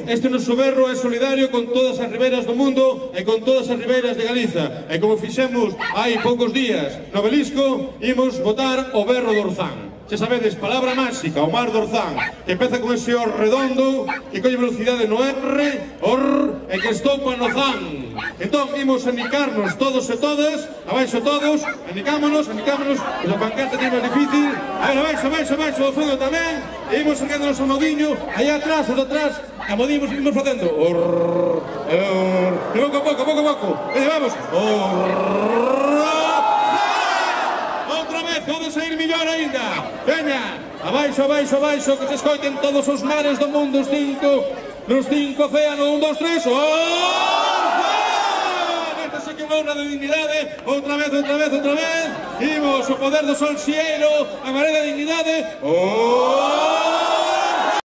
Este noso berro é solidario con todas as ribeiras do mundo e con todas as ribeiras de Galiza. E como fixemos hai poucos días no Belisco, imos botar o berro do Orzán. Se sabedes, palabra máxica, o mar do Orzán, que empeza con ese or redondo, que colle velocidade no R, or, e que estopa no zan. Entón, imos anicarnos todos e todas, abaixo todos, anicámonos, que a pancarta tiene máis difícil. A ver, abaixo, do fondo tamén, e imos erguéndonos o nodiño, aí atrás, a modimos, imos facendo, or, e pouco a pouco, e vamos, pode sair millor ainda. Veña, abaixo, que se escoiten todos os mares do mundo, nos cinco océanos, 1, 2, 3, esta sí que é unha honra de dignidade, outra vez, imos, o poder do sol xeiro, a maré da dignidade,